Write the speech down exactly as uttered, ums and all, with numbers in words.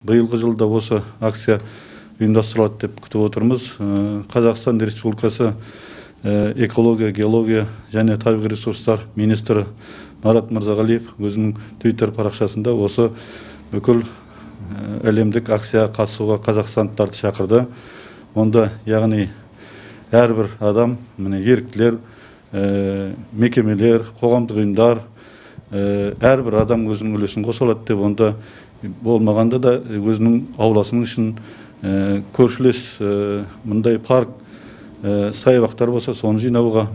быйылгы жылда осы акция ұйымдастырылат деп күтіп отырмыз. Қазақстан Республикасы экология, геология және табиғи ресурстар министрі Марат Мырзағалиев өзінің Twitter парақшасында осы бүкіл әлемдік акцияға қатысуға қазақстандықтарды шақырды. Онда яғни әрбір адам, міне еріктілер, мекемелер, қоғамдық ұйымдар, әрбір адам өзінің үлесін қоса алады деп, онда болмағанда да өзінің ауласының үшін көршілес мындай парк, саябақтар болса, соны жинауға